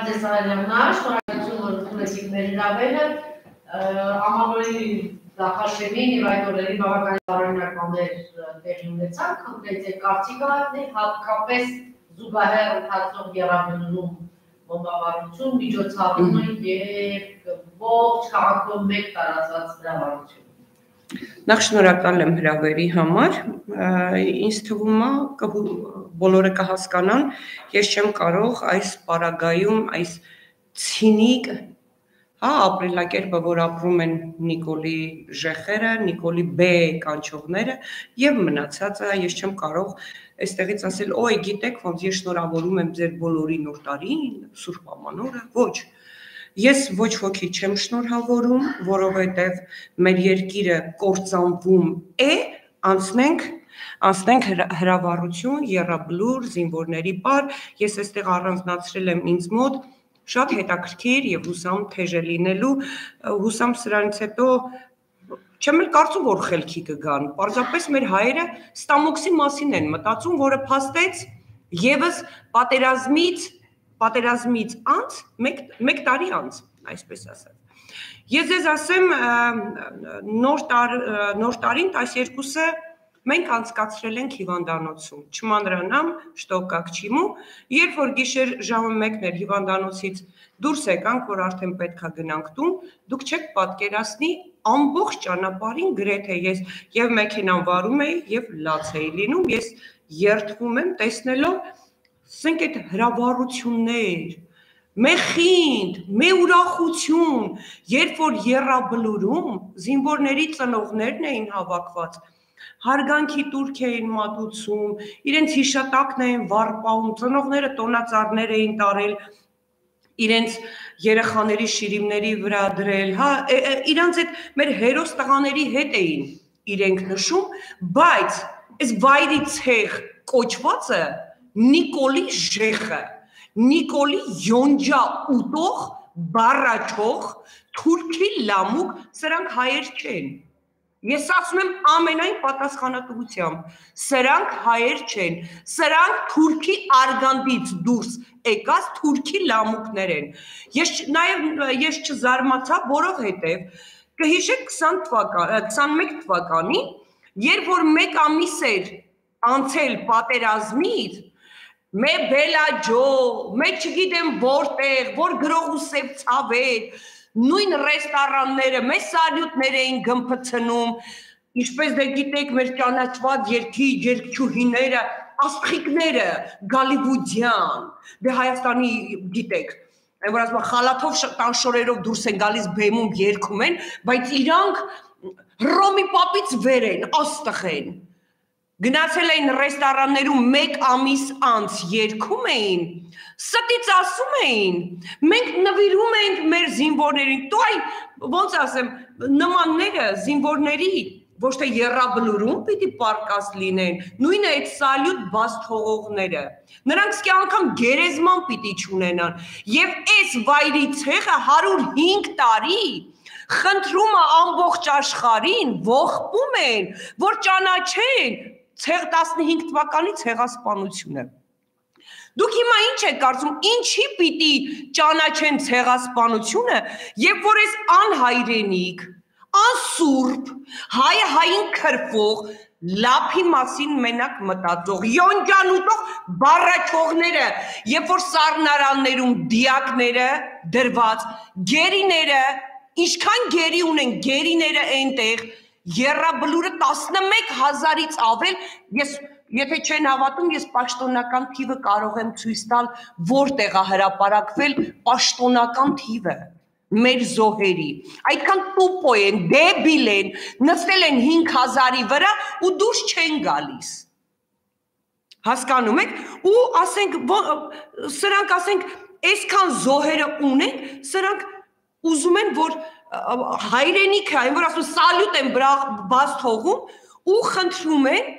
Շնորհակալություն, որ ընդունեցիք մեր հրավերը, ամառորի նախաշեմին եւ այդ օրերի բավական տարօրինակներ տեղի ունեցան, խնդրեց կարծիք հայտնել, հատկապես զուգահեռ ընթացող եռաբլուրում բոմբարդություն, միջոցառումը եւ ողջ քաղաքում մեկ տարածված հրավառություն։ Նախ շնորհակալ եմ հրավերի համար, ինձ թվում է բոլորը կհասկանան, ես չեմ կարող այս պարագայում այս ցինիկ ապրելակերպը, որ ապրում են Նիկոլի ժեխերը, Նիկոլի B կանչողները եւ մնացածը, ես չեմ կարող այստեղից ասել, օй, գիտեք, ոնց ես շնորհավորում եմ ձեր բոլորի նոր տարին, Սուրբ Ամանորը, ոչ։ Ես ոչ ոքի չեմ շնորհավորում, որովհետև մեր երկիրը կործանվում է, անցնենք հրավառություն, եռաբլուր, զինվորների պար, ես այստեղ առանձնացրել եմ ինձ մոտ շատ հետաքրքիր եւ հուսամ թեժ է լինելու, հուսամ սրանից հետո չեմ էլ կարծում, որ խելքի կգան, պարզապես մեր հայերը ստամոքսի մասին են մտածում, որը փաստեց եւս պատերազմից անց, մեկ տարի անց, այսպես ասած։ Ես ձեզ ասեմ, նոր տարին 12-ը մենք անցկացրել ենք հիվանդանոցում, չմանրանամ, շտոկակ չիմու, երբ որ գիշեր ժամը 1-ն էր հիվանդանոցից դուրս եկանք, որ արդեն պետք է գնանք տուն, դուք չեք պատկերացնի ամբողջ ճանապարհին գրեթե ես եւ մեքենան վարում էի եւ լաց էի լինում, ես երդվում եմ տեսնելով ասենք այդ հրավառություններ, մեխինդ, մե ուրախություն, երբ որ եռաբլուրում զինվորների ծնողներն էին հավաքված, հարգանքի տուրք էին մատուցում, իրենց հիշատակն էին վարպահում, ծնողները տոնածառներ էին տարել, իրենց երեխաների շիրիմների վրա դրել, իրանց այդ մեր հերոս տղաների հետ էին իրենք նշում, բայց այս վայրի ցեղ կոչվածը Նիկոլի ժեխը, Նիկոլի յոնջա ուտող, բառաչող, թուրքի լամուկ, սրանք հայեր չեն։ Ես ասում եմ ամենայն պատասխանատվությամբ, սրանք հայեր չեն, սրանք թուրքի արգանդից դուրս եկած թուրքի լամուկներ են։ Ես չզարմացա, որովհետև կհիշեք 21 թվականին, երբ որ մեկ ամիս էր անցել պատերազմից, մե բելաջո, մե չգիտեմ որտեղ, որ գրող ու սև ցավեր, նույն ռեստորանները, մե սալյուտներ էին գմփցնում, ինչպես դե գիտեք մեր ճանաչված երգչուհիները, աստղիկները, գալիվուդյան, դե Հայաստանի գիտեք, այն որ ասում խալաթով տանշորերով դուրս են գալիս բեմում երգում են, բայց իրանք Հռոմի պապից վեր են, աստղ են։ Գնացել էին ռեստորաններում մեկ ամիս անց երգում էին, ստից ասում էին, մենք նվիրում ենք մեր զինվորներին, դու այ ոնց ասեմ, նմանները զինվորների ոչ թե եռաբլուրում պիտի պարկած լինեն, նույնը այդ սալյուտ բաց թողողները, նրանք սկի անգամ գերեզման պիտի չունենան, եւ այս վայրի ցեղը 105 տարի խնդրում է ամբողջ աշխարհին, ողբում են, որ ճանաչեն 15 թվականի ցեղասպանությունը։ Դուք հիմա ինչ եք կարծում, ինչի պիտի ճանաչեն ցեղասպանությունը, երբ որ այս անհայրենիք, անսուրբ, հայը հային քրվող, լափի մասին մենակ մտածող, յոնջան ուտող բառաչողները, երբ որ սառնարաններում դիակները դրված, գերիները, ինչքան գերի ունեն գերիները այնտեղ, եռաբլուրը 11,000-ից ավել, եթե չեն հավատում, ես պաշտոնական թիվը կարող եմ ցույց տալ, որտեղ է հրապարակվել պաշտոնական թիվը մեր զոհերի, այդքան տուպո են, դեբիլ են, նստել են 5,000-ի վրա ու դուրս չեն գալիս, հասկանում եք, ու սրանք ասենք, այսքան զոհերը ունենք, սրանք ուզում են, որ հայրենիքը, այն որ ասում սալյուտ են բաց թողում ու խնդրում են,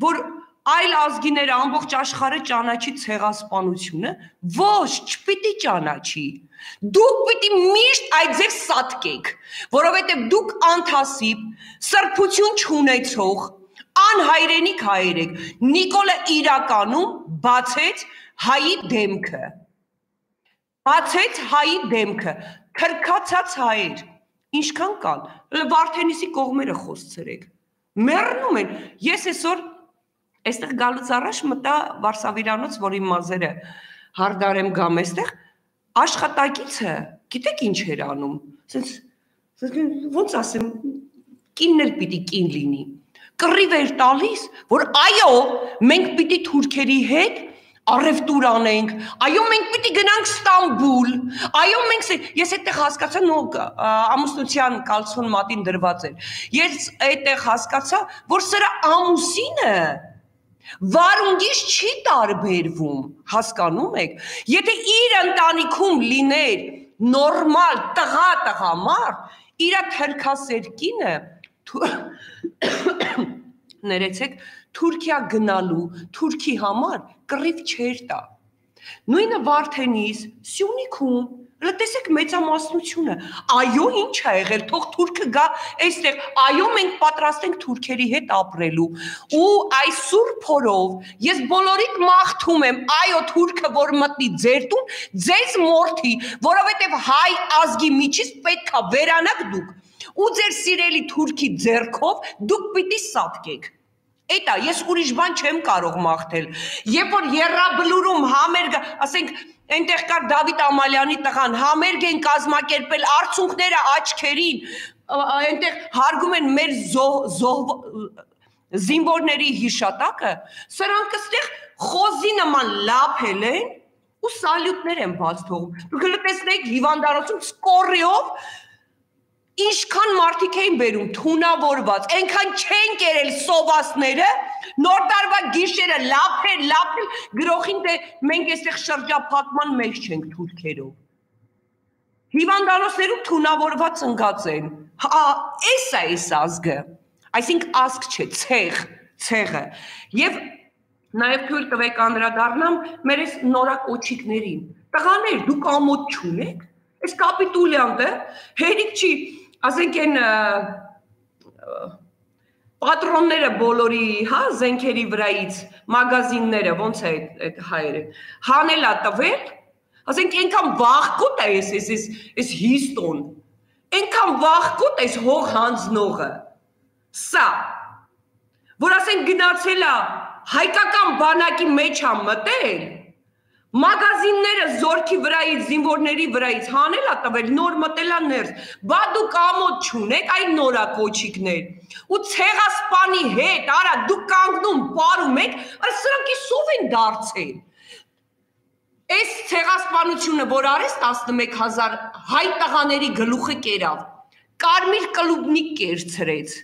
որ այլ ազգիները ամբողջ աշխարհը ճանաչի ցեղասպանությունը, ոչ, չպիտի ճանաչի։ Դուք պիտի միշտ այդ ձեր սատկեք, որովհետև դուք անթասիբ, սրբություն չունեցող, անհայրենիք հայեր եք։ Նիկոլը իրականում բացեց հայի դեմքը։ Բացեց հայի դեմքը, քրքացած հայեր, ինչքան կան, Վարդենիսի կողմերը խոսցրեք, մեռնում են, ես այսօր այստեղ գալուց առաջ մտա Վարշավիրանոց, որ իմ մազերը հարդարեմ գամ այստեղ, աշխատակիցը, գիտեք ինչ էր անում, ոնց ասեմ, կինն էլ պիտի կին լինի, կռիվ էր տալիս, որ այո, մենք պիտի թուրքերի հետ առևտուր անենք, այո մենք պիտի գնանք Ստամբուլ, այո մենք ես այդտեղ հասկացա ամուսնության կալցոն մատին դրված էր, ես այդտեղ հասկացա, որ սրա ամուսինը վարունգից չի տարբերվում, հասկանում եք, եթե իր ընտանիքում լիներ նորմալ տղամարդ, իր թրքասեր կինը ներեցեք, Թուրքիա գնալու, Թուրքի համար կռիվ չեր տա։ Նույնը Վարդենիս, Սյունիքում, տեսեք մեծամասնությունը, այո ինչ է եղել, թող թուրքը գա այստեղ, այո մենք պատրաստ ենք թուրքերի հետ ապրելու, ու այս սուրբ օրով ես բոլորիդ մաղթում եմ, այո թուրքը որ մտնի ձեր տուն, ձեզ մորթի, որովհետև հայ ազգի միջից պետք է վերանաք դուք, ու ձեր սիրելի թուրքի ձեռքով դուք պիտի սատկեք։ Էտա, ես ուրիշ բան չեմ կարող մաղթել, երբ որ եռաբլուրում համերգ, ասենք, այնտեղ կար Դավիթ Ամալյանի տղան, համերգ են կազմակերպել արցունքները աչքերին, այնտեղ հարգում են մեր զինվորների հիշատակը, սրանք այստեղ խոզի նման լափել են ու սալյուտներ են բաց թողում, դուք տեսնեք հիվանդանոցում սկորիով Ինչքան մարդիկ էին բերում թունավորված, այնքան չեն կերել սովասները, նոր տարվա գիշերը լափել, գրողին դե մենք այստեղ շրջափակման մեջ չենք թուրքերով։ Հիվանդանոցներում թունավորված ընկած են։ Էս է այս ազգը։ Այսինքն ազգ չէ, ցեղը։ Եվ նաև թույլ տվեք անդրադառնամ մեր այս նորակոչիկներին։ Տղաներ, դուք ամոթ չունեք։ Այս կապիտուլյանտը հերիք չի ասենք են պատրոնները բոլորի, հա, զենքերի վրայից, մագազինները, ոնց է այդ հայերը, հանելա տվել, ասենք ենքան վաղկոտ է ես հիստոն, ենքան վաղկոտ է հող հանձնողը, սա, որ ասենք գնացելա հայկական բանակի մեջ ա մտել, մագազինները զորքի վրայից, զինվորների վրայից հանել ա տվել, նոր մտելա ներս, բա դուք ամոթ չունեք այն նորակոչիկներ, ու ցեղասպանի հետ, արա դուք կանգնում պարում եք, սրանք իսով են դարձել, այս ցեղասպանությունը, որ արես 11,000 հայ տղաների գլուխը կերավ, կարմիր կլուբնիկ կերցրեց,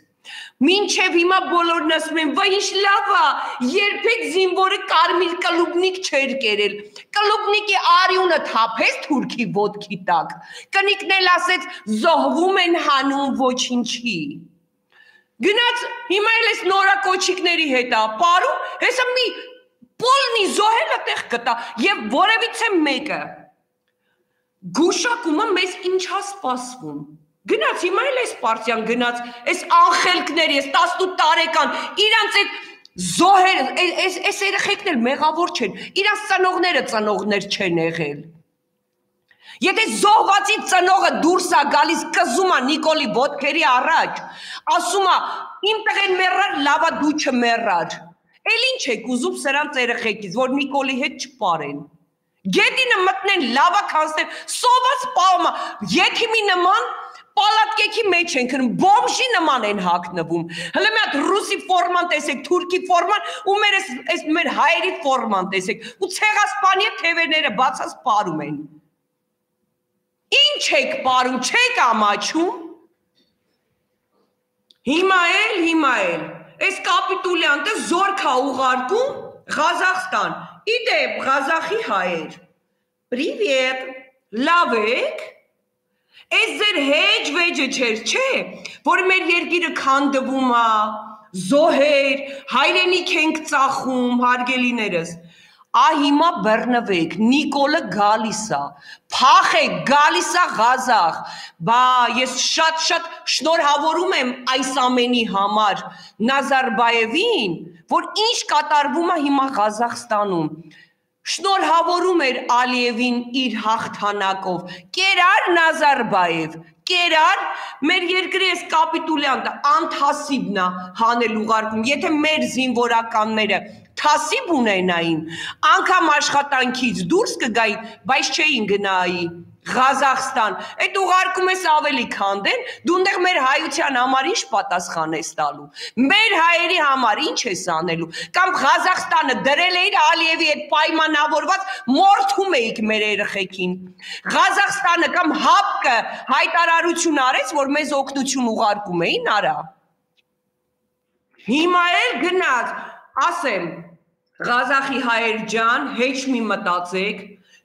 մինչև հիմա բոլորն ասում են, վայ ինչ լավ է, երբեք զինվորը կարմիր կլուբնիկ չէր կերել, կլուբնիկի արյունը թափեց թուրքի ոտքի տակ, կնիկն էլ ասեց զոհվում են հանում ոչինչի, գնաց հիմա էլ ես նորակոչիկների հետ ա պարում, հեսա մի պոլնի զոհելը տեղ կտա և որևիցե մեկը, գուշակումը մեզ ինչ ա սպասվում, Գնաց, հիմա էլ ես պարտիան գնաց, ես անխելքներ, ես 18 տարեկան, իրանց այդ զոհեր, ես երեխեքն էլ մեղավոր չեն, իրանց ծնողները չեն եղել։ Եթե զոհվածի ծնողը դուրս ա գալիս կզում ա Նիկոլի ոտքերի առաջ, ասում ա, իմ տղեն մեռար, լավա դու չմեռար, էլ ինչ եք ուզում սրանց երեխեքից, որ Նիկոլի հետ չպարեն, գետինը մտնեն, լավա կանցնեն, սոված պահում ա, եթիմի նման, Պալատկեքի մեջ են քնում, բոմժի նման են հագնվում, հլը մի հատ ռուսի ֆորման տեսեք, թուրքի ֆորման ու մեր հայերի ֆորման տեսեք ու ցեղասպանի թևերները բացած պարում են։ Ինչ եք պարում, չեք ամաչում։ Հիմա էլ, այս կապիտուլյանտը զորք ա ուղարկում Ղազախստան, իդեպ Ղազախի հայեր, Պրիվետ, լավ եք, Այս ձեր հեջ վեջը չեր, չէ, որ մեր երկիրը քանդվում ա, զոհեր, հայրենիք ենք ծախում, հարգելիներս, հիմա բռնվեք, Նիկոլը գալիս ա, փախեք, գալիս ա Ղազախ, բա ես շատ շնորհավորում եմ այս ամենի համար Նազարբայևին, որ ինչ կատարվում ա հիմա Ղազախստանում, շնորհավորում էր Ալիևին իր հաղթանակով, կերար Նազարբաև, կերար մեր երկրի այս կապիտուլյանտը անթասիբն է հանել ուղարկում, եթե մեր զինվորականները թասիբ ունենային, անգամ աշխատանքից դուրս կգային, բայց չէին գնայի Ղազախստան, այդ ուղարկում ես ավելի քանդեն, դու ընդեղ մեր հայության համար ինչ պատասխան ես տալու, մեր հայերի համար ինչ ես անելու, կամ Ղազախստանը դրել էիր Ալիևի հետ պայմանավորված մորթում էիք մեր երեխեքին, Ղազախստանը կամ ՀԱՊԿ-ը հայտարարություն արեց, որ մեզ օգնություն ուղարկում էին, արա, հիմա էլ գնաց, ասեմ, Ղազախի հայեր ջան, հեչ մի մտածեք,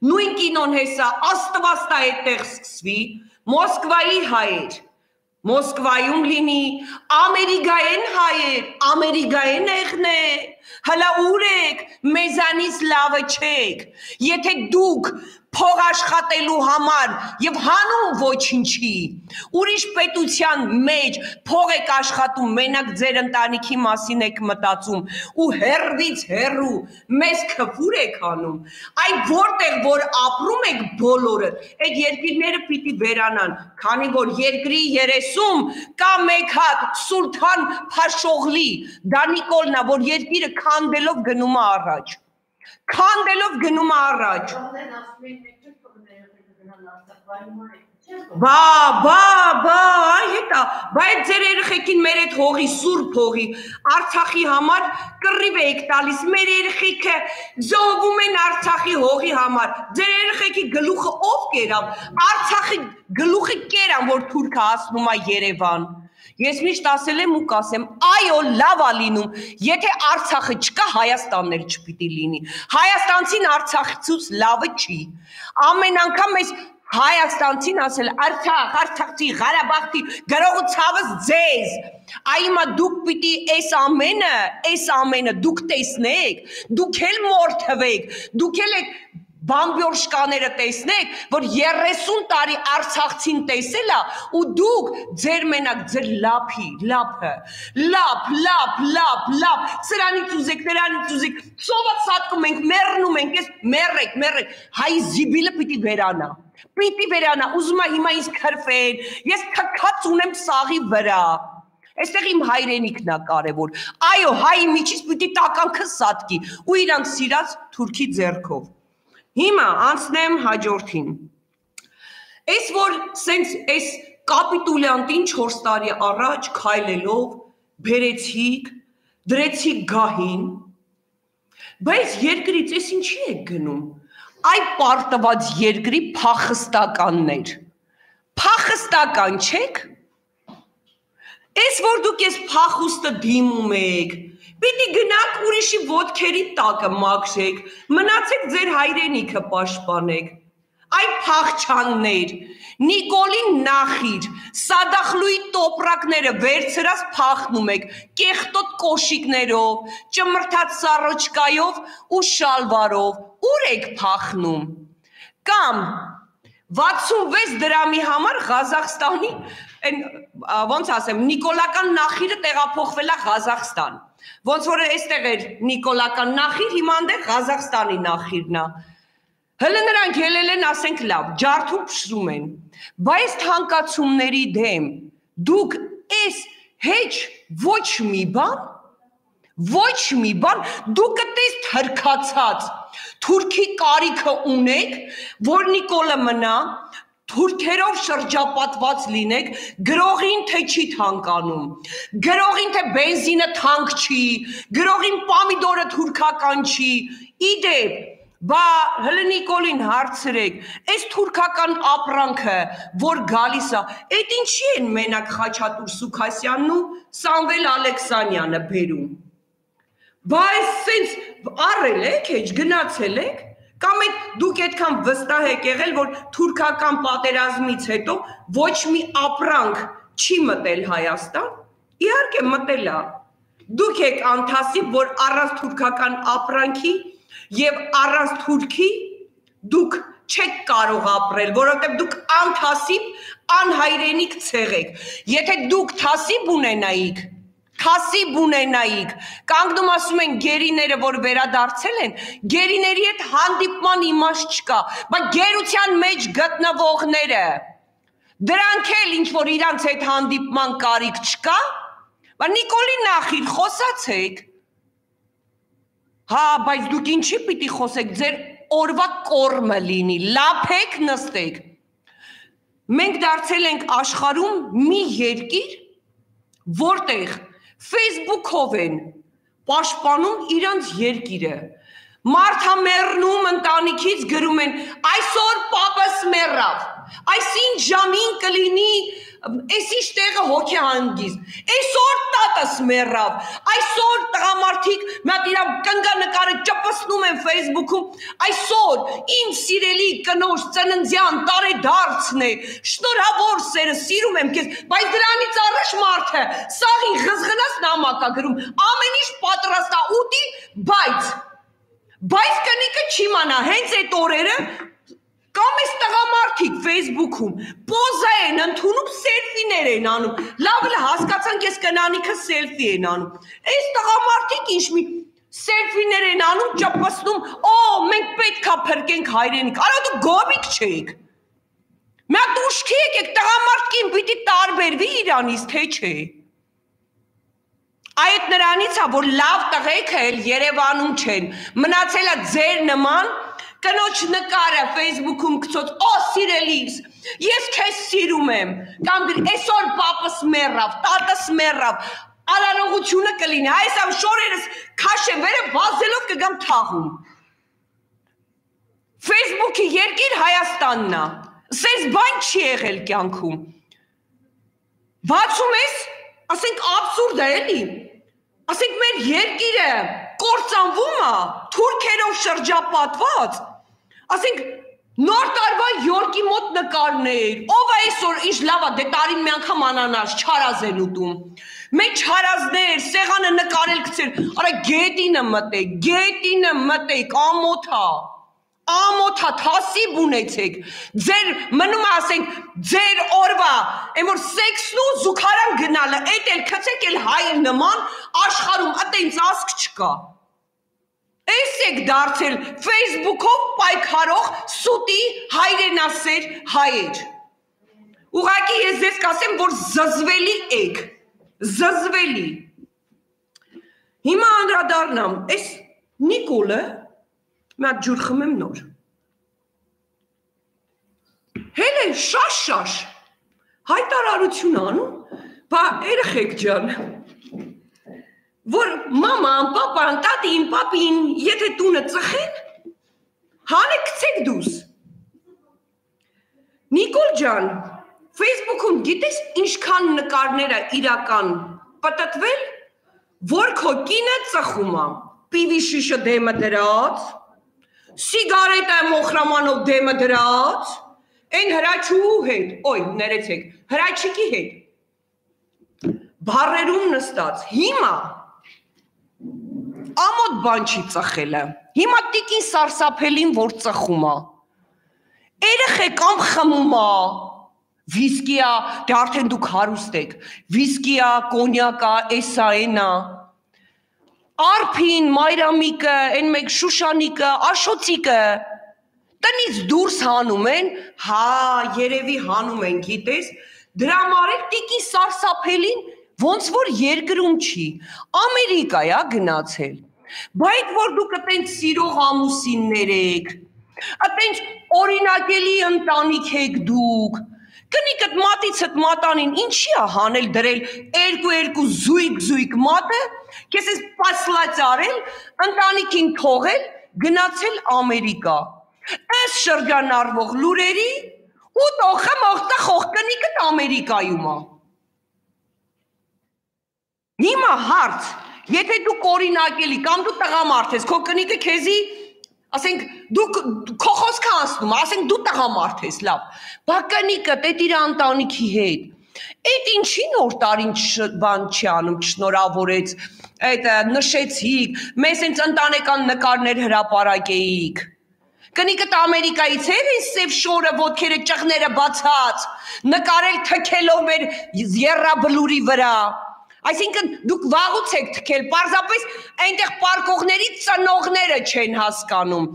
նույն կինոն հեսա աստվածտա այդտեղ սկսվի, Մոսկվայի հայեր, Մոսկվայում լինի, Ամերիկայեն հայեր, Ամերիկայեն եղներ, հլա ուր եք, մեզանից լավը չեք, եթե դուք փող աշխատելու համար եւ հանում ոչինչի, ուրիշ պետության մեջ փող եք աշխատում, մենակ ձեր ընտանիքի մասին եք մտածում ու հերվից հերու մեզ քֆուր եք անում, այդ որտեղ որ ապրում եք բոլորը, այդ երկիրները պիտի վերանան, քանի որ երկրի 30 կա մեկ հատ Սուլթան Փաշօղլի, դա Նիկոլնա, որ երկիրը քանդելով գնում է առաջ, քանդելով գնում է առաջ, այ հետա, բայց ձեր երեխեքին մեր այդ հողի, սուրբ հողի, Արցախի համար կռիվ եք տալիս, մեր երեխեքը զոհվում են Արցախի հողի համար, ձեր երեխեքի գլուխը ով կերավ, Արցախի գլուխը կերան, որ թուրքը հասնում է Երևան, ես միշտ ասել եմ ու կասեմ, այո, լավ է լինում, եթե Արցախը չկա, Հայաստանն էլ չպիտի լինի, Հայաստանցին Արցախցուց լավը չի, ամեն անգամ ես Հայաստանցին ասել, Արցախ, Արցախցի, Ղարաբաղցի, գրողը ցավս ձեզ, այմա դուք պիտի այս ամենը դուք տեսնեք, դուք էլ մորթվեք, դուք էլ եք բամբյորշկաները տեսնեք, որ 30 տարի Արցախցին տեսել է ու դուք ձեր մենակ ձեր լափը, լափ, սրանից ուզեք, նրանից ուզեք, սոված սատկում ենք, մեռնում ենք, ես մեռեք, հայ զիբիլը պիտի վերանա, ուզում է հիմա ինձ քրֆեն, ես թքած ունեմ սաղի վրա, այստեղ իմ հայրենիքն է կարևոր, այո, հայի միջից պիտի տականքը սատկի ու իրանք սիրած թուրքի ձեռքով, հիմա անցնեմ հաջորդին, այս որ սենց այս կապիտուլյանտին 4 տարի առաջ քայլելով բերեցիք, դրեցիք գահին, բայց երկրից ես ինչի եք գնում, այ պարտված երկրի փախստականներ, փախստական չեք, այս որ դուք ես փախուստը դիմում եք, պիտի գնաք ուրիշի ոտքերի տակը մաքրեք, մնացեք ձեր հայրենիքը պաշտպանեք, այ փախչաններ, Նիկոլին նախիր, Սադախլուի տոպրակները վերցրած փախնում եք, կեղտոտ կոշիկներով, ճմրթած սառոճկայով ու շալվարով, ուր եք փախնում, կամ 66 դրամի համար Ղազախստանի, ոնց ասեմ, նիկոլական նախիրը տեղափոխվել է Ղազախստան, ոնց որ այստեղ էր նիկոլական նախիր, հիմա այնտեղ Ղազախստանի նախիրն է, հələ նրանք ելել են, ասենք լավ, ջարդում փշրում են, բայց թանկացումների դեմ դուք այս հեչ ոչ մի բան, դուք կտես թրքացած, թուրքի կարիքը ունեք, որ Նիկոլը մնա, թուրքերով շրջապատված լինեք, գրողին թե չի թանկանում, գրողին թե բենզինը թանկ չի, գրողին պամիդորը թուրքական չի, իդեպ, բա հլը Նիկոլին հարցրեք, այս թուրքական ապրանքը, որ գալիս է, այդ ինչի են մենակ Խաչատուր Սուքասյանն ու Սամվել Ալեքսանյանը բերում, բա այս սենց առել եք, հեչ գնացել եք, կամ դուք այդքան վստահ եք եղել, որ թուրքական պատերազմից հետո ոչ մի ապրանք չի մտել Հայաստան, իհարկե մտել է, դուք եք անթասիբ, որ առանց թուրքական ապրանքի և առանց թուրքի դուք չեք կարող ապրել, որովհետև դուք անթասիբ, անհայրենիք ցեղ եք, եթե դուք թասիբ ունենայիք, Թասիբ ունենայիք, կանգնում ասում են գերիները, որ վերադարձել են, գերիների հետ հանդիպման իմաստ չկա, բայց գերության մեջ գտնվողները, դրանք էլ ինչ-որ իրանց հետ հանդիպման կարիք չկա, բայց Նիկոլի նախիր խոսացեք, հա, բայց դուք ինչի պիտի խոսեք, ձեր օրվա կորմը լինի, լափեք նստեք, մենք դարձել ենք աշխարհում մի երկիր, որտեղ Facebook-ով են պաշտպանում իրանց երկիրը, մարդամեռնում ընտանիքից գրում են, այսօր պապս մեռավ, այսինչ ժամին կլինի, այսինչ տեղը հոգեհանգիստ, այսօր տատս մեռավ, այսօր տղամարդիկ մատ իրավ կնգանկարը ճպսնում են Facebook-ում, այսօր իմ սիրելի կնոջ ծննդյան տարեդարձն է, շնորհավոր սերը, սիրում եմ քեզ, բայց դրանից առաջ մարդը սաղին ղզղնած նամակ է գրում, ամեն ինչ պատրաստ է ուտի, բայց կնիկը չի մանա, հենց այդ օրերը կամ այս տղամարդիկ Facebook-ում պոզա են ընդունում, սելֆիներ են անում, լավ հասկացանք ես կնանիքը սելֆի են անում, այս տղամարդիկ ինչ մի սելֆիներ են անում, ճպսնում, մենք պետք է փրկենք հայրենիք, արա դու գոմիկ չեք, միատ ուշքի եկեք, տղամարդկին պիտի տարբերվի իրանից, թե չէ, այդ նրանից է, որ լավ տղեքը էլ Երևանում չեն, մնացել է ձեր նման, կնոջ նկարը Facebook-ում գցոց, սիրելիս, ես քեզ սիրում եմ, կամ գրի, այսօր պապս մեռավ, տատս մեռավ, արարողությունը կլինի, այս ամ շորերս քաշևերը վազելով կգամ թաղում։ Facebook-ի երկիր Հայաստանն է, սենց բան չի եղել կյանքում։ Բացում ես, ասենք աբսուրդ է էլի, ասենք մեր երկիրը կործանվում է, թուրքերով շրջապատված, ասենք նոր տարվա յորկի մոտ նկարներ, ով է այսօր ինչ լավ է, դե տարին մի անգամ անանաս, չարազ են ուտում, մենք չարազներ, սեղանը նկարել գցել, արա գետինը մտեք, ամոթա, թասիբ ունեցեք, ձեր մնում է ասենք, ձեր օրվա, են որ սեքսն ու զուգարան գնալը, էդ էլ կցեք էլ հայր նման, աշխարում ատենց ասկ չկա, այս եք դարձել Facebook-ով պայքարող սուտի հայրենասեր հայեր, ուղղակի ես ձեզ կասեմ, որ զզվելի եք, զզվելի, հիմա անդրադառնամ, այս Նիկոլը, Մատ ջուր խմեմ նոր, հել է շաշ, հայտարարություն անում, բա երեխեք ջան, որ մաման, պապան, տատին, պապին, եթե տունը ծխեն, հանեք կցեք դուս, Նիկոլ ջան, Facebook-ում գիտես ինչքան նկարները իրական պտտվել, որ քո կինը ծխում է, պիվի շիշը դեմը դրած, սիգարետը մոխրամանով դեմը դրած, են հրաչու հետ, ներեցեք, հրաչիկի հետ, բարերում նստած, հիմա, ամոտ բան չի ծխելը, հիմա տիկին սարսափելին, որ ծխում է, երեխեք ամ խմում է, վիսկի է, դե արդեն դուք հարուստ եք, վիսկի է, կոնյակ է, էսա էնա, Արփին, մայրամիկը, են մեկ շուշանիկը, աշոցիկը, տնից դուրս հանում են, հա, երևի հանում են, գիտես, դրա մարել տիկի սարսափելին, ոնց որ երկրում չի, Ամերիկա է գնացել, բայց որ դուք ըտենց սիրող ամուսիններ եք, ըտենց օրինակելի ընտանիք եք դուք, կնիկըտ մատիցըտ մատանին ինչի է հանել դրել երկու զույգ մատը, կես ես պասլաց արել, ընտանիքին թողել, գնացել Ամերիկա, այս շրջանարվող լուրերի ու տոխը մողտա խող կնիկըտ Ամերիկայում է։ Հիմա հարց, եթե դու կորինակելի կամ դու տղամարդ ես, քո կնիկը քեզի ասենք դու քո խոսքը անցնում, ասենք դու տղամարդ ես, լավ, բա կնիկը տետ իր ընտանիքի հետ, այդ ինչի նոր տարին բան չի անում, չշնորհավորեց, այդ նշեցիք, մեզ հենց ընտանեկան նկարներ հրապարակեիք, կնիկըտ Ամերիկայից էր այս սև շորը, ոտքերը ճղները բացած, նկարել թքելով մեր եռաբլուրի վրա, Այսինքն դուք վաղուց եք թքել, պարզապես այնտեղ պարկողների ծնողները չեն հասկանում,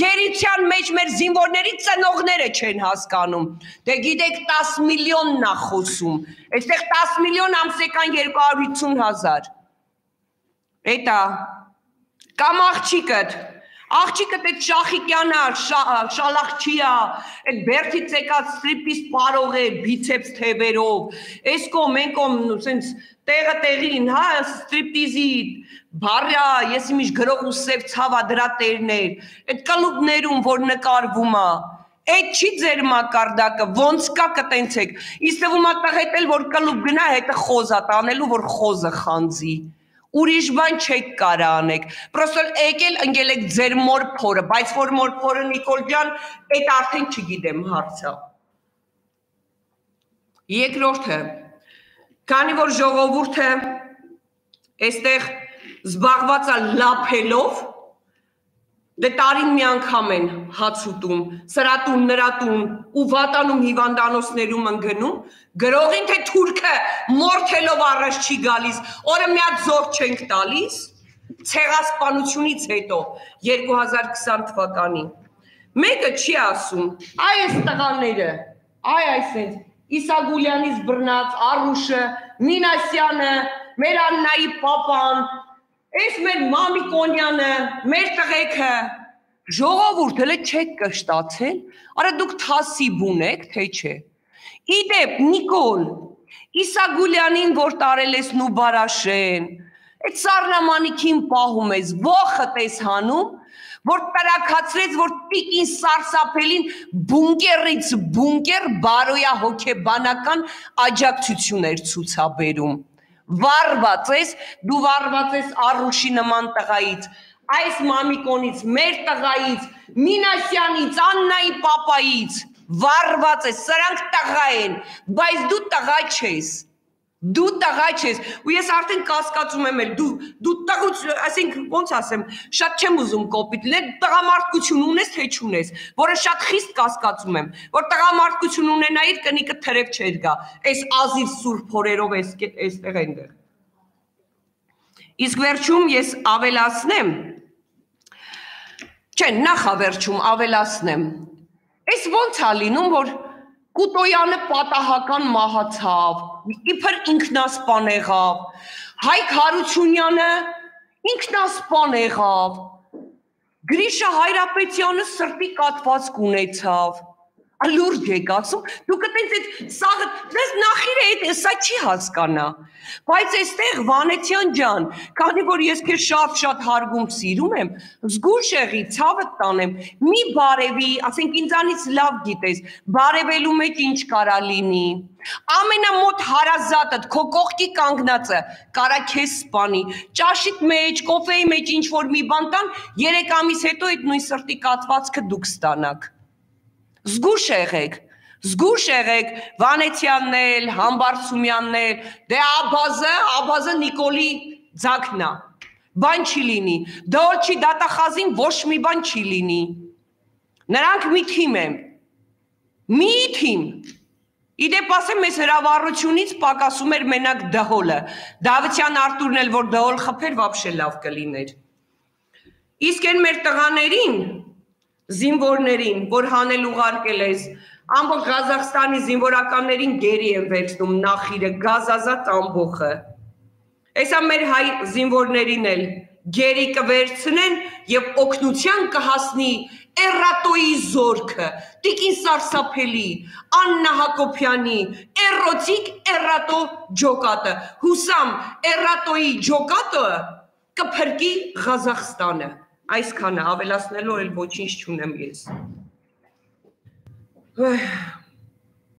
գերության մեջ մեր զինվորների ծնողները չեն հասկանում, դե գիտեք 10 միլիոնն է խոսում, այստեղ 10 միլիոն ամսեկան 250,000, էտա, կամ աղջիկդ այդ Շախիկյանն է, Շալախչիա, այդ բերդից եկած ստրիպից պարող է, բիցեպս թևերով, այս կողմ, այն կողմ, սենց տեղը տեղին, հա, ստրիպտիզի բարյա, ես իմիշ գրող ու սև ցավա դրա տերներ, այդ կլուբներում, որ նկարվում է, այդ չի ձեր մակարդակը, ոնց կա կտենցեք, իսկ թվում է տղետ էլ, որ կլուբ գնա, հետը խոզ է տանելու, որ խոզը խանձի, ուրիշ բան չեք կարա անեք, պրոստոր եկել ընգել եք ձեր մոր փորը, բայց որ մոր փորը Նիկոլ ջան, այդ արդեն չգիտեմ հարցը։ Երկրորդը, քանի որ ժողովուրդը այստեղ զբաղված է լափելով, դե տարին մի անգամ են հաց ուտում, սրատուն, նրատուն ու վատանում հիվանդանոցներում ընգնում, գրողին թե թուրքը մորթելով առաջ չի գալիս, օրը մի հատ զոր չենք տալիս, ցեղասպանությունից հետո 2020 թվականին։ Մեկը չի ասում, այ այս տղաները, այ այսենց Իսագուլյանից բռնած Արուշը, Մինասյանը, մեր Աննայի պապան, այս մեր Մամիկոնյանը, մեր տղեկը, ժողովուրդ հələ չեք կշտացել, արա դուք թասիբ ունեք, թե չէ։ Իդեպ, Նիկոլ, Իսագուլյանին, որ տարել ես Նուբարաշեն, այդ սառնամանիքին պահում ես, ոխդ ես հանում, որ տրակացրեց, որ տիկին սարսափելին բունկերից բունկեր բարոյա հոգեբանական աջակցություն էր ցուցաբերում։ Վարված ես, դու վարված ես Արուշի նման տղայից, այս Մամիկոնից, մեր տղայից, Մինասյանից, Աննայի պապայից, վարված ես, սրանք տղա են, բայց դու տղա չես, ու ես արդեն կասկածում եմ էլ, դու տղուց, ասենք ոնց ասեմ, շատ չեմ ուզում կոպիտ լինել, տղամարդկություն ունես, թե չունես, որը շատ խիստ կասկածում եմ, որ տղամարդկություն ունենայիր կնիկը թրև չէր գա, այս ազիվ սուրբ հորերով էստեղ այնտեղ։ Իսկ վերջում ես ավելացնեմ, չէ, նախավերջում ավելացնեմ, այս ոնց է լինում, որ Կուտոյանը պատահական մահացավ, իբր ինքնասպան եղավ, Հայկ Հարությունյանը ինքնասպան եղավ, Գրիշա Հայրապետյանը սրտի կաթվածք ունեցավ, լուրջ եք ասում, դուք այտենց այդ սաղը, դες նախիրը այդ սա չի հասկանա, բայց այստեղ Վանեցյան ջան, քանի որ ես քեզ շատ հարգում սիրում եմ, զգուշ եղի, ցավդ տանեմ, մի բարևի, ասենք ինձանից լավ գիտես, բարևելու մեջ ինչ կարա լինի, ամենամոտ հարազատդ, քո կողքի կանգնածը, կարա քեզ սպանի, ճաշիդ մեջ, կոֆեի մեջ ինչ որ մի բան տան, 3 ամիս հետո այդ նույն սրտի կաթվածքը դուք ստանաք։ Զգուշ եղեք, Վանեցյանն էլ, Համբարձումյանն էլ, դե աբազը Նիկոլի ձակն է, բան չի լինի, դոլչի դատախազին ոչ մի բան չի լինի, նրանք մի թիմ են, մի թիմ, իդեպ ասեմ ես հրավառությունից պակասում էր մենակ դհոլը, Դավթյան Արտուրն էլ որ դհոլ խփեր վաբշե լավ կլիներ, իսկ են մեր տղաներին, զինվորներին, որ հանել ուղարկել ես, ամբողջ Ղազախստանի զինվորականներին գերի են վերցնում նախիրը, գազազատ ամբողը։ Այսա մեր հայ զինվորներին էլ գերի կվերցնեն և օգնության կհասնի Էրատոյի զորքը, Տիկին Սարսափելի, Աննա Հակոբյանի, Էրոտիկ Էրատո ջոկատը, Հուսամ Էրատոյի ջոկատը կփրկի Ղազախստանը։ Այսքանը ավելացնելու էլ ոչինչ չունեմ ես։